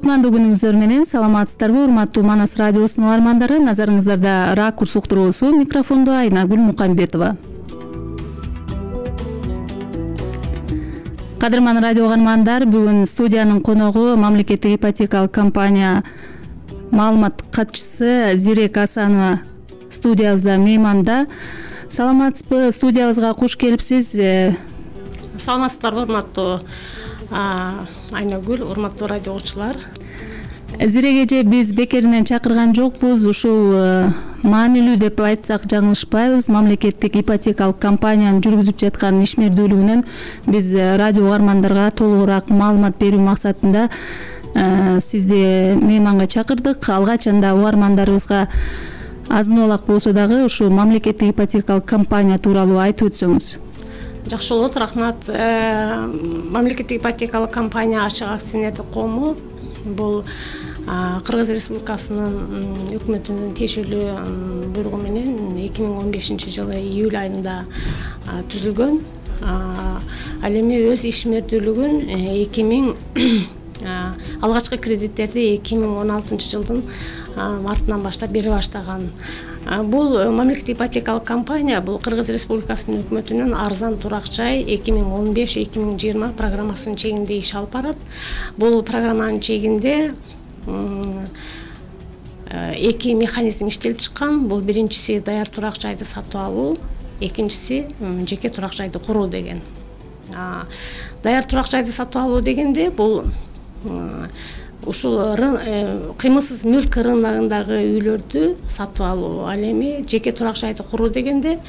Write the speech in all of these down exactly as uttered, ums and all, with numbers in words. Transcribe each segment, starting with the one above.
кутмандуу күнүңүздөр менен саламатсыздарбы урматтуу Манас радиосунун угармандары. Назарыңыздарда Ракурс уктуруусу, микрофондо Айнагүл Мукамбетова. Кадырман радио угармандар, бүгүн студиянын коногу мамлекеттик ипотекалык компания маалымат катчысы Зирек Асанова студиябызда мейманда. Саламатсызбы? Студиябызга куш келипсиз. Саламатсыздарбы урматтуу Айнагүл, урматтуу радио угуучулар. Зирек эже биз бекеринен чакырган жокпуз. Ушул маанилүү деп айтсак жаңылышпайбыз. Мамлекеттик ипотекалык компаниянын жүргүзүп жаткан ишмердүүлүгүнөн биз радио угармандарга толугураак маалымат берүү максатында сизди мейманга чакырдык. Алгачында угармандарыбызга азын-олак болсо дагы ушу мамлекеттик ипотекалык компания тууралуу айтып өтсөңүз. Жакшы болот, рахмат. Мамлекеттик ипотекалык компания ачык акционердик коому бул Кыргыз Республикасынын өкмөтүнүн тиешелүү буйругу менен эки миң он бешинчи жылы июль айында түзүлгөн. Ал эми өз ишмердүүлүгүн эки миң алгачкы кредиттерди эки миң он алтынчы жылдын мартынан баштап бере баштаган. Бул мамлекеттик ипотекалык компания бул Кыргыз Республикасынын өкмөтүнүн арзан турак жай эки миң он беш эки миң жыйырма программасынын чегинде иш алып барат. Бул программанын чегинде эки механизм иштелип чыккан. Бул биринчиси даяр турак жайды сатып алуу, экинчиси жеке турак жайды куруу деген. Даяр турак жайды сатып алуу дегенде бул ушул кыймылсыз мүлк рыногундагы үйлөрдү сатып алуу. Ал эми жеке турак жайды куруу дегенде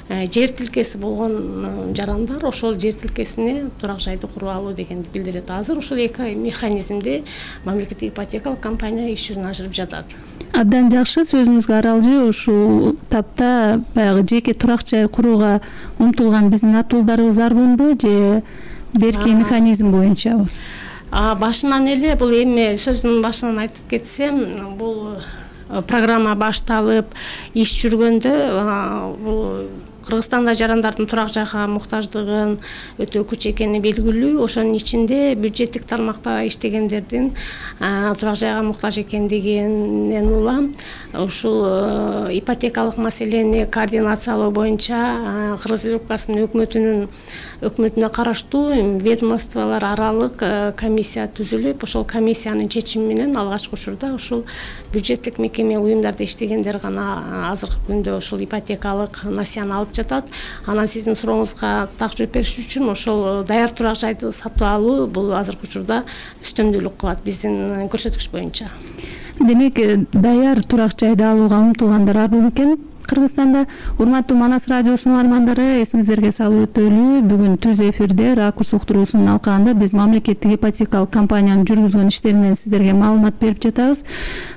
жер тилкеси болгон жарандар ошол жер тилкесине турак жайды куруп алуу дегенди билдирет. Азыр ушул эки механизмде мамлекеттик ипотекалык компания иш жүзүнө ашырып жатат. Абдан жакшы, сөзүңүзгө аралжы. Ушул тапта баягы жеке турак жай курууга умтулган биздин атуулдарыбыз арбынбы же берки механизм боюнчабы? Башынан эле бул эми сөздүн башынан айтып кетсем, бул программа башталып иш жүргөндө бул Кыргызстанда жарандардын турак жайга муктаждыгын өтө күч экени белгилүү. Ошонун ичинде бюджеттик тармакта иштегендердин турак жайга муктаж экендигинен улам ушул ипотекалык маселени координациялоо боюнча Кыргыз Республикасынын өкмөтүнүн өкмөтүнө караштуу ведомстволор аралык комиссия түзүлүп, ошол комиссиянын чечими менен алгачкы учурда ушул бюджеттик мекеме уюмдарда иштегендер гана азыркы күндө ушул ипотекалык насыяны алып жатат. Анан сиздин сурооңузга так жооп бериш үчүн ошол даяр турак жайды сатып алуу бул азыркы учурда үстөмдүүлүк кылат биздин көрсөткүч боюнча. Демек, даяр турак жайды алууга умтулгандар арбын экен Кыргызстанда. Урматтуу Манас радиосунун угармандары, эсиңиздерге салып өтөлү, бүгүн түз эфирде Ракурс уктуруусунун алкагында биз мамлекеттик ипотекалык компаниянын жүргүзгөн иштеринен сиздерге маалымат берип жатабыз.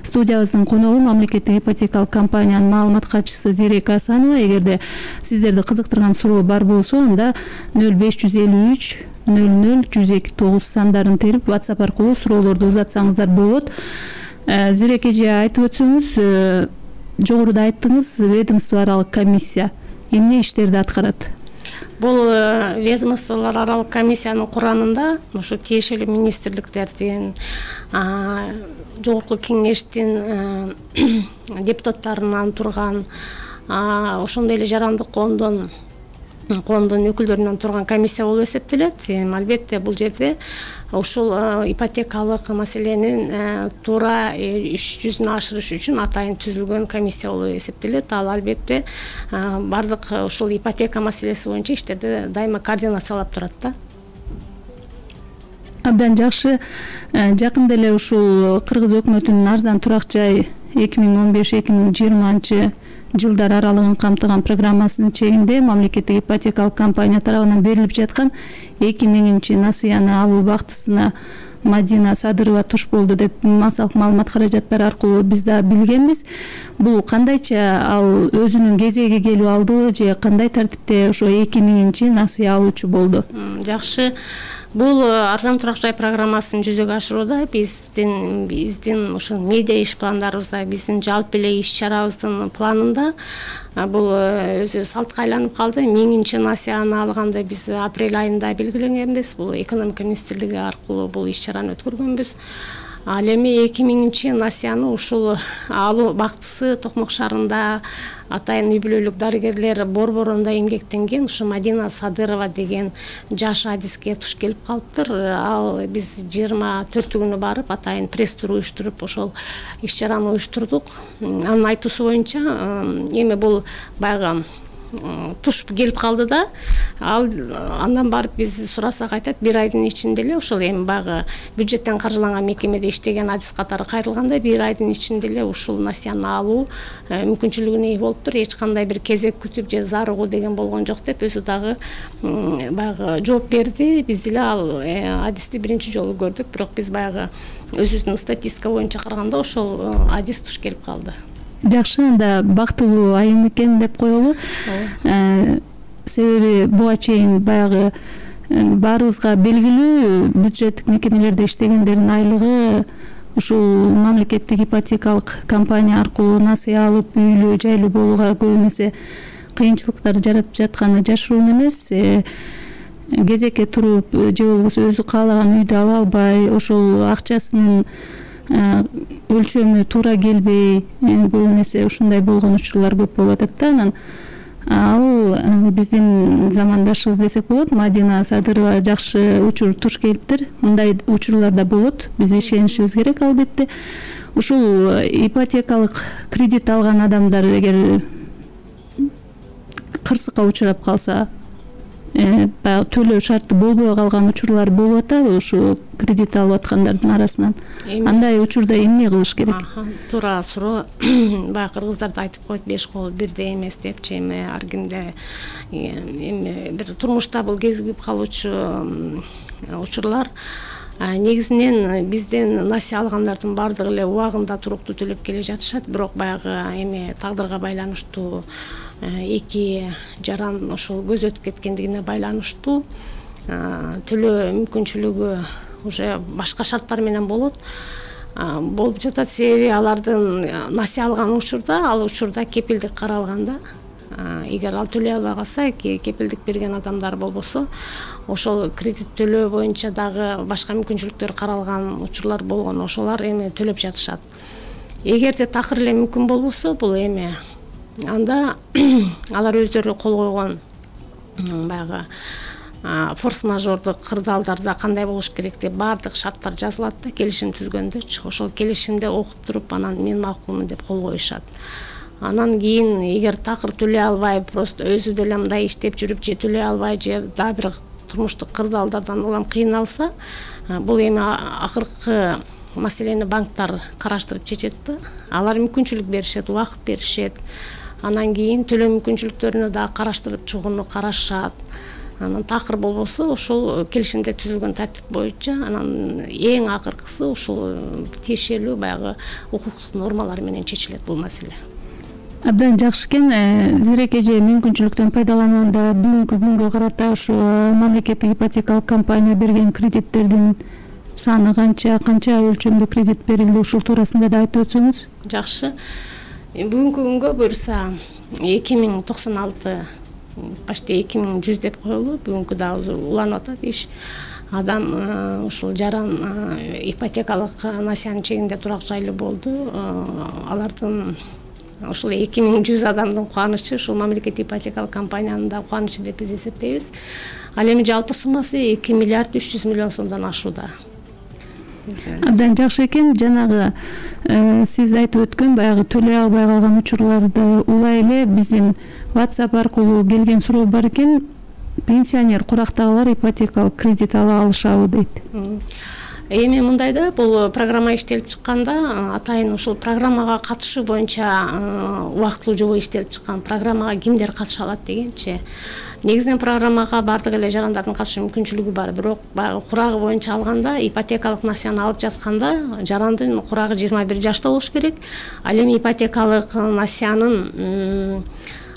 Студиябыздын коногу мамлекеттик ипотекалык компаниянын маалымат катчысы Зирек Асанова. Эгерде сиздерди кызыктырган суроо бар болсо, анда нөл беш жүз элүү үч нөл нөл жүз эки тогуз сандарын терип WhatsApp аркылуу суроолорду узатсаңыздар болот. Зирек эже, айтып өтсөңүз, жогоруда айттыңыз, ведомство аралык комиссия эмне иштерди аткарат? Бул ведомстволор аралык комиссиянын курамында ошо тиешелүү министрликтердин, жогорку кеңештин депутаттарынан турган, ошондой эле жарандык коомдон коомдун өкүлдөрүнөн турган комиссия болуп эсептелет. Албетте бул жерде ушул ипотекалык маселенин туура иш жүзүнө ашырыш үчүн атайын түзүлгөн комиссия болуп эсептелет. Ал албетте бардык ушул ипотека маселеси боюнча иштерди дайыма координациялап турат да. Абдан жакшы. Жакында эле ушул Кыргыз өкмөтүнүн арзан турак жай эки миң он беш эки миң жыйырманчы жылдар аралыгын камтыган программасынын чегинде мамлекеттик ипотекалык компания тарабынан берилип жаткан эки миңинчи насыяны алуу бактысына Мадина Садырова туш болду деп массалык маалымат каражаттары аркылуу биз да билгенбиз. Бул кандайча ал өзүнүн кезеги келип алдыбы же кандай тартипте ошо эки миңинчи насыя алуучу болду? Жакшы. Бул арзан турак жай программасын жүзөгө ашырууда биздин биздин ошо медиа иш пландарыбызда, биздин жалпы эле иш чарабыздын планында бул өзү салтка айланып калды. Миңинчи насыяны алганда биз апрель айында белгиленгенбиз. Бул экономика министрлиги аркылуу бул иш чараны өткөргөнбүз. Ал эми эки миңинчи насыяны ушул алуу бактысы Токмок шаарында атайын үй бүлөлүк дарыгерлер борборунда эмгектенген ушу Мадина Садырова деген жаш адиске туш келип калыптыр. Ал биз жыйырма төртү күнү барып атайын пресс-тур уюштуруп ошол иш чараны уюштурдук. Анын айтуусу боюнча эми бул баягы туш келип калды да, ал андан барып биз сурасак айтат, бир айдын ичинде эле ошол эми баягы бюджеттен каржыланган мекемеде иштеген адис катары кайрылганда бир айдын ичинде эле ушул насыяны алуу мүмкүнчүлүгүнө ээ болуптур. Эч кандай бир кезек күтүп же зарыгуу деген болгон жок деп өзү дагы баягы жооп берди. Биз деле ал адисти биринчи жолу көрдүк, бирок биз баягы өзүбүздүн статистика боюнча караганда ошол адис туш келип калды. Жакшы, анда бактылуу айым экен деп коелу. Себеби буга чейин баягы баарыбызга белгилүү бюджеттик мекемелерде иштегендердин айлыгы ушул мамлекеттик ипотекалык компания аркылуу насыя алып үйлүү жайлуу болууга көп эсе кыйынчылыктар жаратып жатканы жашыруун эмес. Кезекке туруп же болбосо өзү каалаган үйдү ала албай, ошол акчасынын өлчөмү туура келбей, көп эмесе ушундай болгон учурлар көп болуп атат да. Анан ал биздин замандашыбыз десек болот, Мадина Садырова жакшы учур туш келиптир. Мындай учурлар да болот. Биз ишенишибиз керек албетте. Ушул ипотекалык кредит алган адамдар эгер кырсыкка учурап калса, баягы төлөө шарты болбой калган учурлар болуп атабы ушу кредит алып аткандардын арасынан? Андай учурда эмне кылыш керек? Туура суроо. Баягы кыргыздар да айтып коет, беш кол бирдей эмес депчи. Эми ар кимде эми бир турмушта бул кезигип калуучу учурлар. Негизинен бизден насыя алгандардын баардыгы эле убагында туруктуу төлөп келе жатышат, бирок баягы эми тагдырга байланыштуу эки жаран ошол көзөтүп кеткендигине байланыштуу төлөө мүмкүнчүлүгү уже башка шарттар менен болот болуп жатат. Себеби алардын насыя алган учурда, ал учурда кепилдик каралганда, эгер ал төлөй албай калса, кепилдик берген адамдар болбосо, ошол кредит төлөө боюнча дагы башка мүмкүнчүлүктөр каралган учурлар болгон, ошолар эми төлөп жатышат. Эгерде такыр эле мүмкүн болбосо, бул эми анда алар өздөрү кол койгон баягы форс-мажордук кырдаалдарда кандай болуш керек деп баардык шарттар жазылат да, келишим түзгөндө. Ошол келишимде окуп туруп, анан мен макулмун деп кол коюшат. Анан кийин эгер такыр төлөй албай, просто өзү деле мындай иштеп жүрүп же төлөй албай, же дагы бир турмуштук кырдаалдардан улам кыйналса, бул эми акыркы маселени банктар караштырып чечет да. Алар мүмкүнчүлүк беришет, убакыт беришет. Анан кийин төлөө мүмкүнчүлүктөрүнө дагы караштырып чыгууну карашат. Анан такыр болбосо ошол келишимде түзүлгөн тартип боюнча, анан эң акыркысы ушул тиешелүү баягы укуктук нормалар менен чечилет бул маселе. Абдан жакшы экен. Зирек эже мүмкүнчүлүктөн пайдаланганда бүгүнкү күнгө карата ушу мамлекеттик ипотекалык компания берген кредиттердин саны канча, канча өлчөмдө кредит берилди, ушул туурасында да айтып өтсөңүз? Жакшы. Бүгүнкү күнгө буюрса эки миң токсон алты, почти эки миң жүз деп коелу. Бүгүнкү дагы уланып атат иш. Адам ушул жаран ипотекалык насыянын чегинде турак жайлуу болду. Алардын ушул эки миң жүз адамдын кубанычы, ушул мамлекеттик ипотекалык компаниянын да кубанычы деп биз эсептейбиз. Ал эми жалпы суммасы эки миллиард үч жүз миллион сомдон ашууда. Абдан жакшы экен. Жанагы сиз айтып өткөн баягы төлөй албай калган учурларды улай эле биздин WhatsApp аркылуу келген суроо бар экен. Пенсионер курактагылар ипотекалык кредит ала алышабы дейт. Эми мындай да, бул программа иштелип чыкканда атайын ушул программага катышуу боюнча убактылуу жобо иштелип чыккан. Программага кимдер катыша алат дегенчи. Негизинен программага баардык эле жарандардын катышуу мүмкүнчүлүгү бар, бирок баягы курагы боюнча алганда, ипотекалык насыяны алып жатканда жарандын курагы жыйырма бир жашта болуш керек. Ал эми ипотекалык насыянын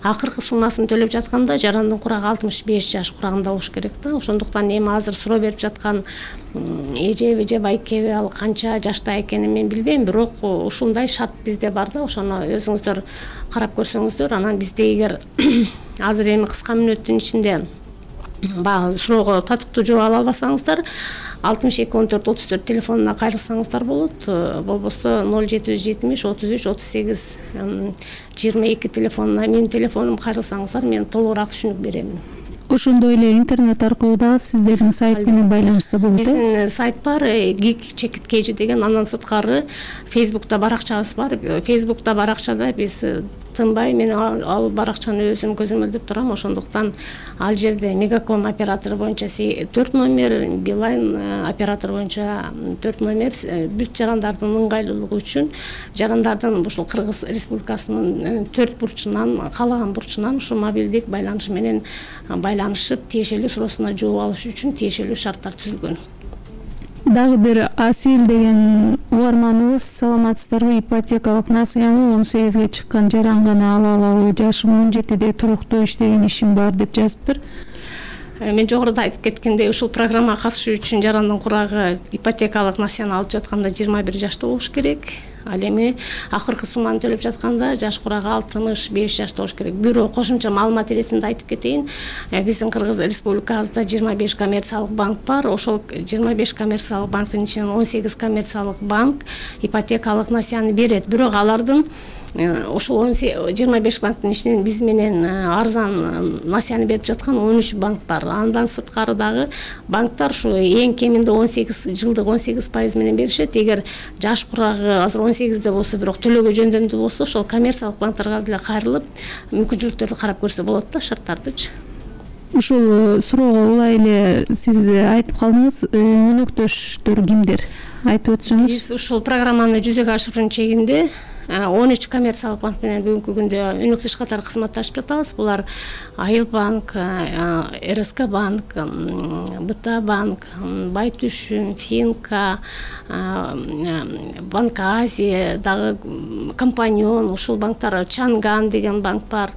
акыркы суммасын төлөп жатканда жарандын курагы алтымыш беш жаш курагында болуш керек да. Ошондуктан эми азыр суроо берип жаткан эжеби же байкеби, ал канча жашта экенин мен билбейм, бирок ушундай шарт бизде бар да. Ошону өзүңүздөр карап көрсөңүздөр, анан бизде эгер азыр эми кыска мүнөттүн ичинде баягы суроого татыктуу жооп ала албасаңыздар алтымыш эки он төрт отуз төрт телефонуна кайрылсаңыздар болот. Болбосо ноль жети жүз жетимиш отуз үч отуз сегиз жыйырма эки телефонуна менин телефонум кайрылсаңыздар мен толугураак түшүнүк беремин. Ошондой эле интернет аркылуу дагы сиздердин сайт менен байланышса болот. Биздин сайт бар, Geek Check It Cage деген, андан сырткары Facebook'та баракчабыз бар. Facebook'та баракчада биз тынбай, мен ал баракчаны өзүм көзөмөлдөп турам. Ошондуктан ал жерде Мегаком оператору боюнча төрт номер, Билайн оператор боюнча төрт номер, бүт жарандардын ыңгайлуулугу үчүн жарандардын ушул Кыргыз Республикасынын төрт бурчунан, каалаган бурчунан ушу мобилдик байланыш менен байланышып, тиешелүү суроосуна жооп алыш үчүн тиешелүү шарттар түзүлгөн. Дагы бир Асил деген угарманыбыз, саламатсыздарбы, ипотекалык насыяны он сегизге чыккан жаран гана ала алабы, жашым он жетиде туруктуу иштеген ишим бар деп жазыптыр. Мен жогоруда айтып кеткендей, ушул программага катышуу үчүн жарандын курагы ипотекалык насыяны алып жатканда жыйырма бир жашта болуш керек. Ал эми акыркы сумманы төлөп жатканда жаш курагы алтымыш беш жашта болуш керек. Бирок кошумча маалымат иретинде айтып кетейин, биздин Кыргыз Республикабызда жыйырма беш коммерциялык банк бар. Ошол жыйырма беш коммерциялык банктын ичинен он сегиз коммерциялык банк ипотекалык насыяны берет. Бирок алардын ошол жыйырма беш банктын ичинен биз менен арзан насыяны берип жаткан он үч банк бар. Андан сырткары дагы банктар ушу эң кеминде он сегиз жылдык он сегиз пайыз менен беришет. Эгер жаш курагы азыр он сегизде болсо, бирок төлөөгө жөндөмдүү болсо, ошол коммерциялык банктарга деле кайрылып мүмкүнчүлүктөрдү карап көрсө болот да, шарттардычы. Ушул суроого улай эле сиз айтып калдыңыз, өнөктөштөр кимдер? Айтып өтсөңүз. Биз ушул программаны жүзөгө ашыруунун чегинде он үч коммерциялык банк менен бүгүнкү күндө өнөктөш катары кызматташып жатабыз. Булар Айыл банк, РСК банк, БТА банк, Байтүшүн, Финка, Банк Азия, дагы Компаньон, ушул банктар, Чанган деген банк бар.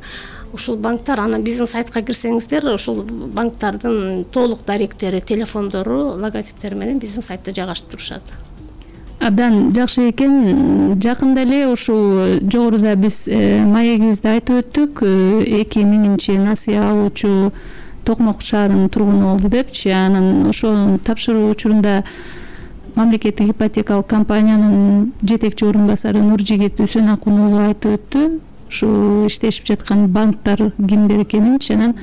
Ушул банктар, анан биздин сайтка кирсеңиздер, ушул банктардын толук даректери, телефондору, логотиптери менен биздин сайтта жайгашып турушат. Абдан жакшы экен. Жакында эле ушул жогоруда биз маегибизде айтып өттүк, эки миңинчи насыя алуучу Токмок шаарынын тургуну болду депчи. Анан ошонун тапшыруу учурунда мамлекеттик ипотекалык компаниянын жетекчи орун басары Нуржигит Үсөнакун уулу айтып өттү. Ушу иштешип жаткан банктар кимдер экенинчи, анан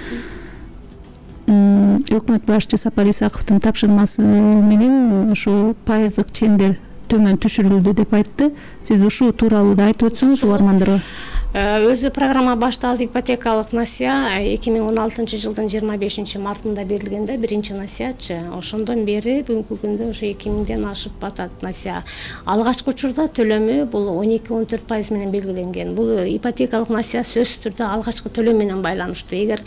өкмөт башчы Сапар Исаковдун тапшырмасы менен ушу пайыздык чендер төмөн түшүрүлдү деп айтты. Сиз ушул тууралуу да айтып өтсөңүз угармандарга. Өзү программа башталды, ипотекалык насыя эки миң он алтынчы жылдын жыйырма бешинчи мартында берилген да, биринчи насыячы. Ошондон бери бүгүнкү күндө ушу эки миңден ашып атат насыя. Алгачкы учурда төлөмү бул он эки он төрт пайыз менен белгиленген. Бул ипотекалык насыя сөзсүз түрдө алгачкы төлөм менен байланыштуу. Эгер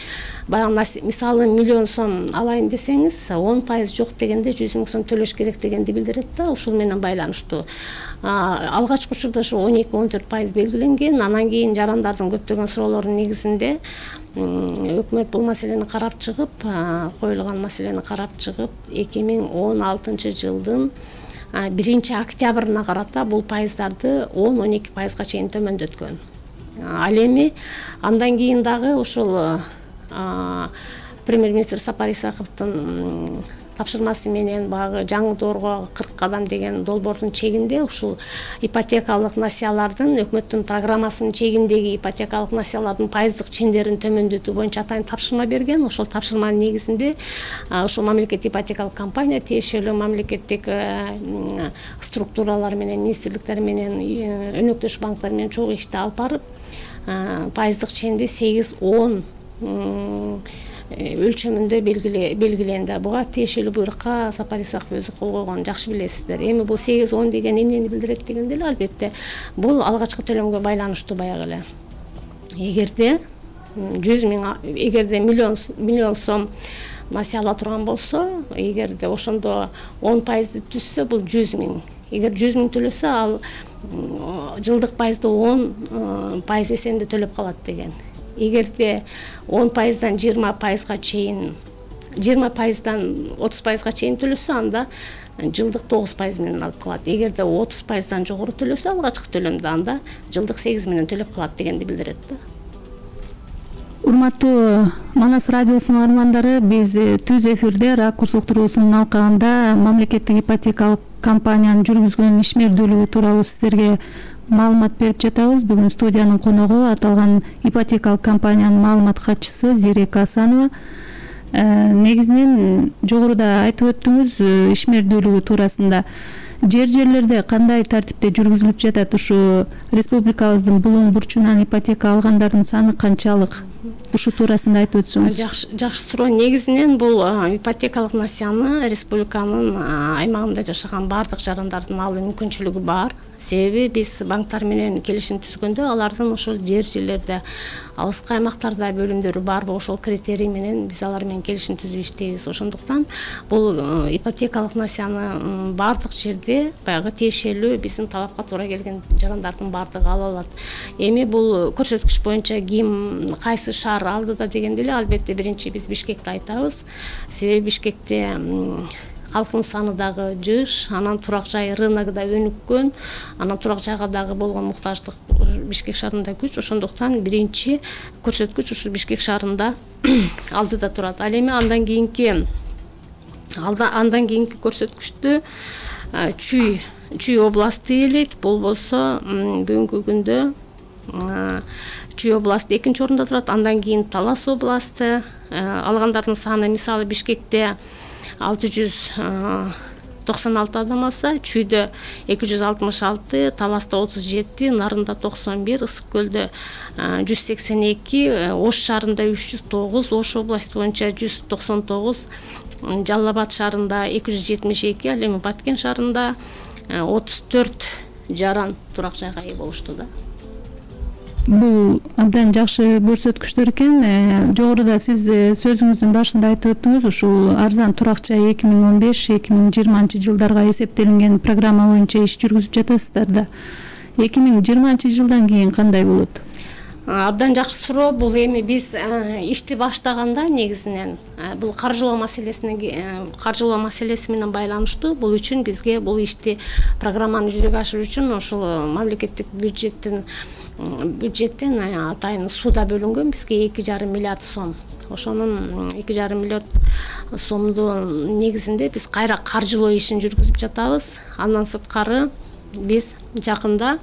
баягы мисалы миллион сом алайын десеңиз, он пайыз жок дегенде жүз миң сом төлөш керек дегенди билдирет да, ушул менен байланыштуу. Алгачкы учурда ушу он эки он төрт пайыз белгиленген. Анан кийин жарандардын көптөгөн суроолорунун негизинде өкмөт бул маселени карап чыгып, коюлган маселени карап чыгып, эки миң он алтынчы жылдын биринчи октябрына карата бул пайыздарды он он эки пайызга чейин төмөндөткөн. Ал эми андан кийин дагы ушул премьер-министр Сапар Исаковдун тапшырмасы менен багы жаңы доорго кырк кадам деген долбоордун чегинде ушул ипотекалык насыялардын, өкмөттүн программасынын чегиндеги ипотекалык насыялардын пайыздык чендерин төмөндөтүү боюнча атайын тапшырма берген. Ошол тапшырманын негизинде ушул мамлекеттик ипотекалык компания тиешелүү мамлекеттик структуралар менен, министрликтер менен, өнөктөш банктар менен чогуу ишти алып барып, пайыздык ченди сегиз он өлчөмүндө белгиленди. Буга тиешелүү буйрукка Сапар Исаков өзү кол койгонун жакшы билесиздер. Эми бул сегиз он деген эмнени билдирет дегенде эле, албетте бул алгачкы төлөмгө байланыштуу баягы эле. Эгерде жүз миң, эгерде миллион миллион сом насыя ала турган болсо, эгерде ошондо он пайызды түзсө, бул жүз миң. Эгер жүз миң төлөсө, ал жылдык пайызды он пайыз эсенде төлөп калат деген. Эгерде он пайыздан жыйырма пайызга чейин, жыйырма пайыздан отуз пайызга чейин төлөсө, анда жылдык тогуз пайыз менен алып калат. Эгерде отуз пайыздан жогору төлөсө, алгачкы төлөмдө, анда жылдык сегиз менен төлөп калат дегенди билдирет да. Урматтуу Манас радиосунун армандары, биз түз эфирде Ракурс уктуруусунун алкагында мамлекеттик ипотекалык компаниянын жүргүзгөн ишмердүүлүгү тууралуу сиздерге маалымат берип жатабыз. Бүгүн студиянын коногу аталган ипотекалык компаниянын маалымат катчысы Зирека Асанова. Негизинен жогоруда айтып өттүңүз ишмердүүлүгү туурасында. Жер жерлерде кандай тартипте жүргүзүлүп жатат? Ушу республикабыздын булуң бурчунан ипотека алгандардын саны канчалык? Ушу туурасында айтып өтсөңүз. Жакшы, жакшы суроо. Негизинен бул ипотекалык насыяны республиканын аймагында жашаган баардык жарандардын алуу мүмкүнчүлүгү бар. Себеби биз банктар менен келишим түзгөндө алардын ошол жер жерлерде алыскы аймактарда бөлүмдөрү барбы, ошол критерий менен биз алар менен келишим түзүп иштейбиз. Ошондуктан бул ипотекалык насыяны баардык жерде баягы тиешелүү биздин талапка туура келген жарандардын баардыгы ала алат. Эми бул көрсөткүч боюнча ким кайсы шаар алдыда дегенде эле албетте биринчи биз Бишкекти айтабыз. Себеби Бишкекте халктын саны дагы жыш, анан турак жай рыногу да өнүккөн, анан турак жайга дагы болгон муктаждык Бишкек шаарында күч. Ошондуктан биринчи көрсөткүч ушу Бишкек шаарында алдыда турат. Ал эми андан кийинки андан кийинки көрсөткүчтү Чүй Чүй областы ээлейт. Бул болсо бүгүнкү күндө Чүй областы экинчи орунда турат. Андан кийин Талас областы. Алгандардын саны мисалы Бишкекте алты жүз токсон алты адам алса, Чүйдө эки жүз алтымыш алты, Таласта отуз жети, Нарында токсон бир, Ысык көлдө жүз сексен эки, Ош шаарында үч жүз тогуз, Ош областы боюнча жүз токсон тогуз, Жалал Абад шаарында эки жүз жетимиш эки, ал эми Баткен шаарында отуз төрт жаран турак жайга ээ болушту да. Бул абдан жакшы көрсөткүчтөр экен. Жогоруда сиз сөзүңүздүн башында айтып өттүңүз, ушул арзан турак жай эки миң он беш эки миң жыйырманчы жылдарга эсептелинген программа боюнча иш жүргүзүп жатасыздар да. эки миң жыйырманчы жылдан кийин кандай болот? Абдан жакшы суроо. Бул эми биз ишти баштаганда негизинен бул каржылоо маселесине каржылоо маселеси менен байланыштуу. Бул үчүн бизге бул ишти программаны жүзөгө ашыруу үчүн ошол мамлекеттик бюджеттин бюджеттен атайын сууда бөлүнгөн бизге эки жарым миллиард сом. Ошонун эки жарым миллиард сомдун негизинде биз кайра каржылоо ишин жүргүзүп жатабыз. Андан сырткары биз жакында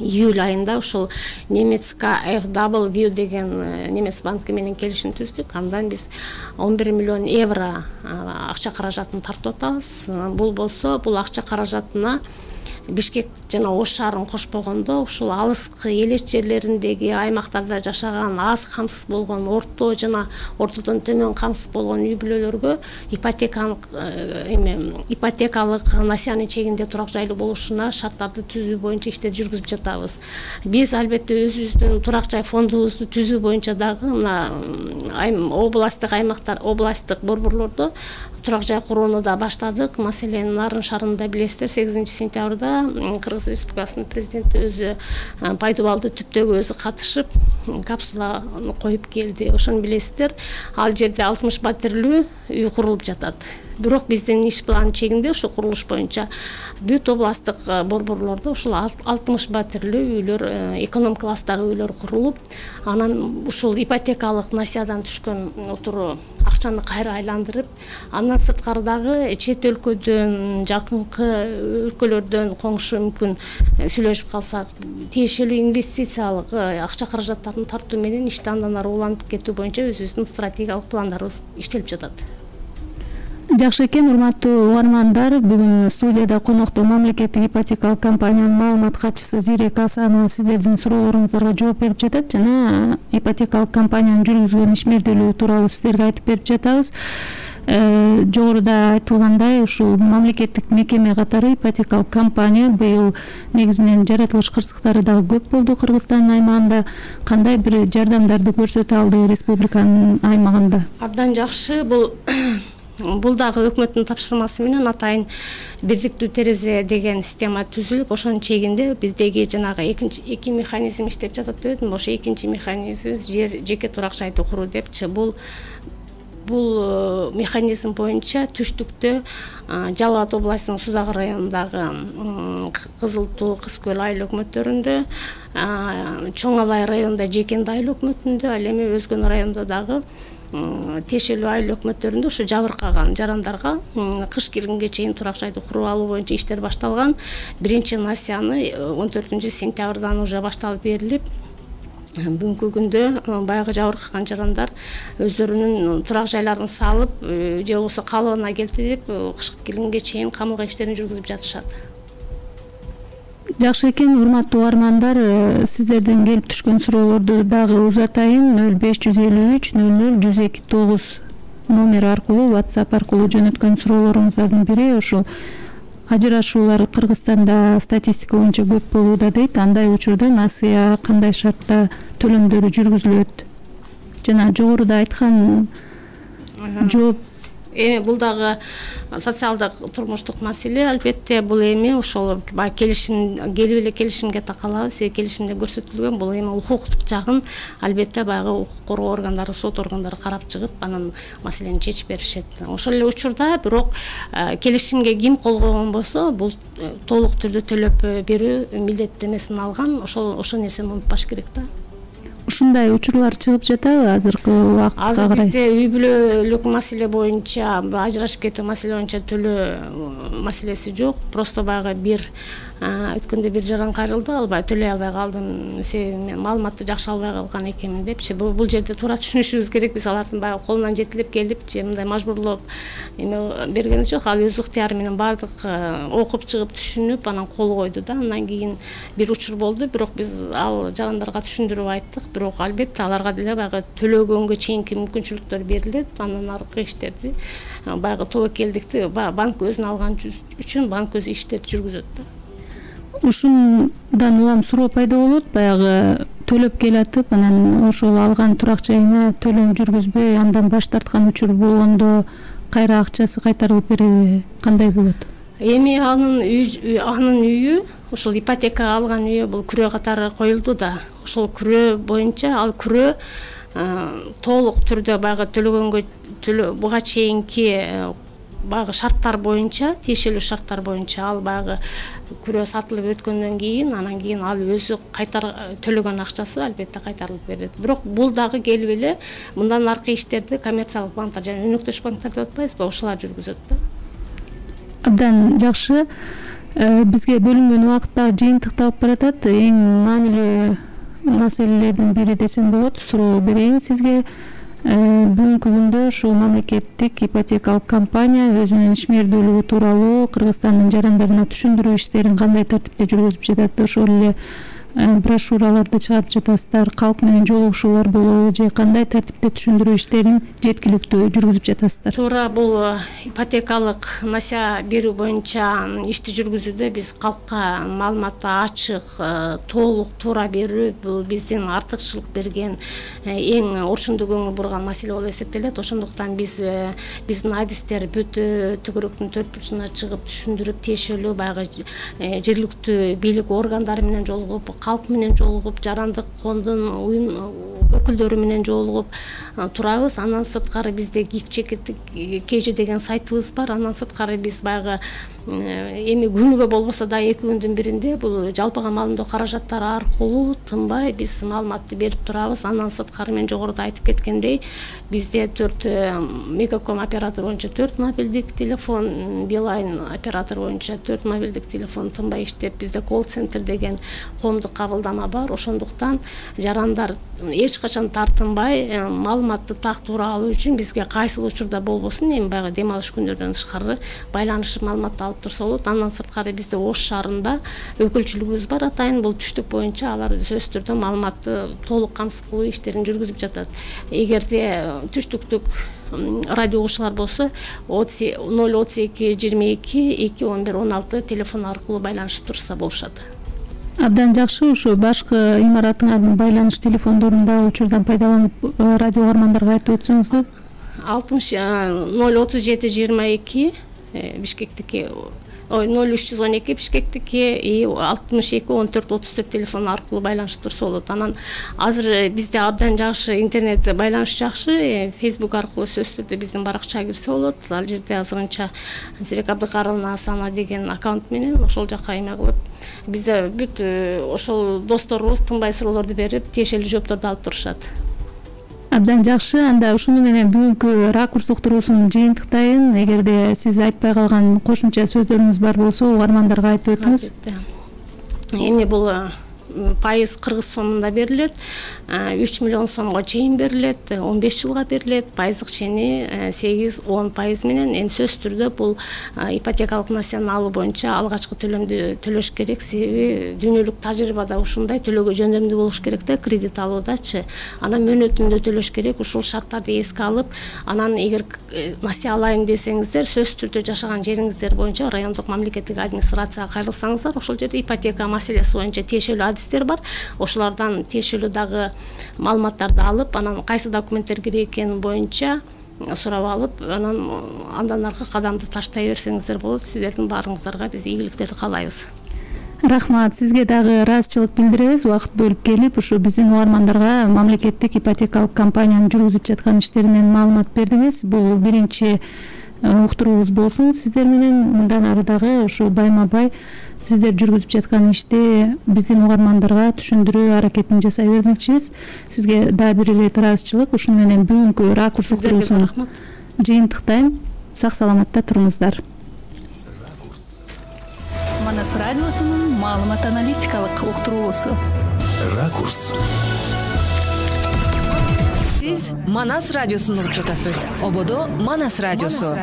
июль айында ушул немецка эф дабл ви деген немец банки менен келишим түздүк. Андан биз он бир миллион евро акча каражатын тартып атабыз. Бул болсо бул акча каражатына Бишкек жана Ош шаарын кошпогондо ушул алыскы элеш жерлериндеги аймактарда жашаган аз камсыз болгон орто жана ортодон төмөн камсыз болгон үй бүлөлөргө ипотекалык эме ипотекалык насыянын чегинде турак жайлуу болушуна шарттарды түзүү боюнча иштер жүргүзүп жатабыз. Биз албетте өзүбүздүн турак жай фондубузду түзүү боюнча дагы мына областтык аймактар областтык борборлордо турак жай курууну да баштадык. Маселен Нарын шаарында билесиздер, сегизинчи сентябрда Кыргыз Республикасынын президенти өзү Пайдубалды түптөгө өзү катышып капсуланы коюп келди. Ошону билесиздер. Ал жерде алтымыш пәтерлүү үй курулуп жатат. Бирок биздин иш план чегинде ушу курулуш боюнча бүт областтык борборлордо ушул алтымыш пәтерлүү үйлөр, эконом класстагы үйлөр курулуп, анан ушул ипотекалык насыядан түшкөн отуру акчаны кайра айландырып, андан сырткары дагы чет өлкөдөн, жакынкы өлкөлөрдөн коңшу мүмкүн сүйлөшүп калсак, тиешелүү инвестициялык акча каражаттарын тартуу менен ишти андан ары улантып кетүү боюнча өзүбүздүн стратегиялык пландарыбыз иштелип жатат. Жакшы экен, урматтуу угармандар. Бүгүн студияда конокто мамлекеттик ипотекалык компаниянын маалымат катчысы Зирека Асанова сиздердин суроолоруңуздарга жооп берип жатат жана ипотекалык компаниянын жүргүзгөн ишмердүүлүгү тууралуу сиздерге айтып берип жатабыз. Жогоруда айтылгандай, ушул мамлекеттик мекеме катары ипотекалык компания быйыл негизинен жаратылыш кырсыктары дагы көп болду Кыргызстандын аймагында. Кандай бир жардамдарды көрсөтө алды республиканын аймагында? Абдан жакшы. Бул Бул дагы өкмөттүн тапшырмасы менен атайын бирдиктүү терезе деген система түзүлүп, ошонун чегинде биздеги жанагы экинчи эки механизм иштеп жатат деп өтүм. Ошо экинчи механизм жер жеке турак жайды куруу депчи. Бул бул механизм боюнча түштүктө Жалал Абад областынын Сузак районундагы Кызыл Туу, Кыз Көл айыл өкмөттөрүндө, Чоң Алай районунда Жекенди айыл өкмөтүндө, ал эми өзгөн райондо дагы Тешелүү айыл өкмөттөрүндө ушу жабыркаган жарандарга кыш келгенге чейин турак жайды куруп алуу боюнча иштер башталган. Биринчи насыяны он төртүнчү сентябрдан уже башталып берилип, бүгүнкү күндө баягы жабыркаган жарандар өздөрүнүн турак жайларын салып, же болбосо калыбына келтирип, кышка келгенге чейин камылга иштерин жүргүзүп жатышат. Жакшы экен, урматтуу угармандар, сиздерден келип түшкөн суроолорду дагы узатайын. нөл беш жүз элүү үч нөл нөл жүз эки тогуз номер аркылуу, WhatsApp аркылуу жөнөткөн суроолоруңуздардын бири ушул ажырашуулар Кыргызстанда статистика боюнча көп болууда дейт. Андай учурда насыя кандай шартта төлөмдөрү жүргүзүлөт? Жана жогоруда айткан жооп эми бул дагы социалдык турмуштук маселе. Албетте бул эми ошол баягы келишим, келип эле келишимге такалабыз. Келишимде көрсөтүлгөн бул эми укуктук жагын албетте баягы укук коргоо органдары, сот органдары карап чыгып, анан маселени чечип беришет. Ошол эле учурда бирок келишимге ким кол койгон болсо, бул толук түрдө төлөп берүү милдеттенмесин алган. Ошол ошол нерсени унутпаш керек да. Ушундай учурлар чыгып жатабы азыркы убакытка Азыр карай? бизде үй бүлөлүк маселе боюнча, ажырашып кетүү маселе боюнча төлөө маселеси жок. Просто баягы бир өткөндө бир жаран кайрылды, албай төлөй албай калдым, себеби мен маалыматты жакшы албай калган экенмин депчи. Бул жерде туура түшүнүшүбүз керек. Биз алардын баягы колунан жетелеп келип, же мындай мажбурлоп эме берген жок. Ал өз ыктыяры менен бардык окуп чыгып түшүнүп, анан кол койду да. Андан кийин бир учур болду, бирок биз ал жарандарга түшүндүрүп айттык. Бирок албетте аларга деле баягы төлөгөнгө чейинки мүмкүнчүлүктөр берилет. Андан аркы иштерди баягы тобокелдикти банк өзүнө алган үчүн банк өзү иштерди жүргүзөт да. Ушундан улам суроо пайда болот, баягы төлөп келатып, анан ошол алган турак жайына төлөм жүргүзбөй, андан баш тарткан учур болгондо кайра акчасы кайтарылып береби, кандай болот? Эми анын анын үйү, ошол ипотекага алган үйү бул күрөө катары коюлду да. Ошол күрөө боюнча ал күрөө толук түрдө баягы төлөгөнгө буга чейинки баягы шарттар боюнча, тиешелүү шарттар боюнча ал баягы күрөө сатылып өткөндөн кийин, анан кийин ал өзү кайтар төлөгөн акчасы албетте кайтарылып берилет. Бирок бул дагы келип эле мындан аркы иштерди коммерциялык банктар жана өнөктөш банктар деп атпайбызбы, ошолар жүргүзөт да. Абдан жакшы. Бизге бөлүнгөн убакыт дагы жыйынтыкталып баратат. Эң маанилүү маселелердин бири десем болот. Суроо берейин сизге. Бүгүнкү күндө ушул мамлекеттик ипотекалык компания өзүнүн ишмердүүлүгү тууралуу Кыргызстандын жарандарына түшүндүрүү иштерин кандай тартипте жүргүзүп жатат? Ошол эле брошюраларды чыгарып жатасыздар, калк менен жолугушуулар болобу, же кандай тартипте түшүндүрүү иштерин жеткиликтүү жүргүзүп жатасыздар? Туура, бул ипотекалык насыя берүү боюнча ишти жүргүзүүдө биз калкка маалыматты ачык, толук, туура берүү бул биздин артыкчылык берген эң орчундуу көңүл бурган маселе болуп эсептелет. Ошондуктан биз биздин адистер бүт түгөрөктүн төрт бурчуна чыгып түшүндүрүп, тиешелүү баягы жергиликтүү бийлик органдары менен жолугуп, калк менен жолугуп, жарандык коомдун өкүлдөрү менен жолугуп турабыз. Андан сырткары бизде ГИК деген сайтыбыз бар. Андан сырткары биз баягы эми күнүгө болбосо да эки күндүн биринде бул жалпыга маалымдоо каражаттары аркылуу тынбай биз маалыматты берип турабыз. Андан сырткары мен жогоруда айтып кеткендей, бизде төрт Мегаком оператор боюнча төрт мобилдик телефон, Билайн оператор боюнча төрт мобилдик телефон тынбай иштеп, бизде колл-центр деген коомдук кабылдама бар. Ошондуктан жарандар эч качан тартынбай маалыматты так туура алуу үчүн бизге кайсыл учурда болбосун, эми баягы дем алыш күндөрдөн тышкары байланышып маалыматты алып турса болот. Андан сырткары бизде Ош шаарында өкүлчүлүгүбүз бар атайын. Бул түштүк боюнча алар сөзсүз түрдө маалыматты толук камсыз кылуу иштерин жүргүзүп жатат. Эгерде түштүктүк радио угуучулар болсо ноль отуз эки жыйырма эки эки он бир он алты телефон аркылуу байланышып турса болушат. Абдан жакшы. Ушу башкы имаратыңардын байланыш телефондорун дагы учурдан пайдаланып радио угармандарга айтып өтсөңүздөр. алтымыш ноль отуз жети жыйырма эки Бишкектики ой ноль үч жүз он эки Бишкектики и алтымыш эки он төрт отуз төрт телефон аркылуу байланышып турса болот. Анан азыр бизде абдан жакшы интернет байланыш жакшы, Facebook аркылуу сөзсүз түрдө биздин баракчага кирсе болот. Ал жерде азырынча Зирек Абдыкарымова Асана деген аккаунт менен ошол жака эме кылып, бизде бүт ошол досторубуз тынбай суроолорду берип, тиешелүү жоопторду алып турушат. Абдан жакшы. Анда ушуну менен бүгүнкү ракурс уктуруусун жыйынтыктайын. Эгерде сиз айтпай калган кошумча сөздөрүңүз бар болсо, угармандарга айтып өтүңүз. Эми бул пайыз кыргыз сомунда берилет, үч миллион сомго чейин берилет, он беш жылга берилет, пайыздык чени сегиз он пайыз менен. Эми сөзсүз түрдө бул ипотекалык несиени алуу боюнча алгачкы төлөмдү төлөш керек, себеби дүйнөлүк тажрыйбада ушундай төлөөгө жөндөмдүү болуш керек да, кредит алуудачы. Анан мөөнөтүндө төлөш керек, ушул шарттарды эске алып, анан эгер насие алайын десеңиздер, сөзсүз түрдө жашаган жериңиздер боюнча райондук мамлекеттик администрацияга кайрылсаңыздар, ошол жерде ипотека маселеси боюнча тиешелүү адистер бар. Ошолордон тиешелүү дагы маалыматтарды алып, анан кайсы документтер керек экени боюнча сурап алып, анан андан аркы кадамды таштай берсеңиздер болот. Сиздердин баарыңыздарга биз ийгиликтерди каалайбыз. Рахмат. Сизге дагы ыраазычылык билдиребиз. Убакыт бөлүп келип, ушу биздин угармандарга мамлекеттик ипотекалык компаниянын жүргүзүп жаткан иштеринен маалымат бердиңиз. Бул биринчи уктуруубуз болсун сиздер менен. Мындан ары дагы ушу байма-бай сиздер жүргүзүп жаткан ишти биздин угармандарга түшүндүрүү аракетин жасай бермекчибиз. Сизге дагы бир ирет ыраазычылык. Ушуну менен бүгүнкү ракурс уктуруусун жыйынтыктайм. Сак саламатта туруңуздар. Манас радиосунун маалымат аналитикалык уктуруусу. Ракурс. Сиз Манас радиосун угуп жатасыз. Ободо Манас радиосу.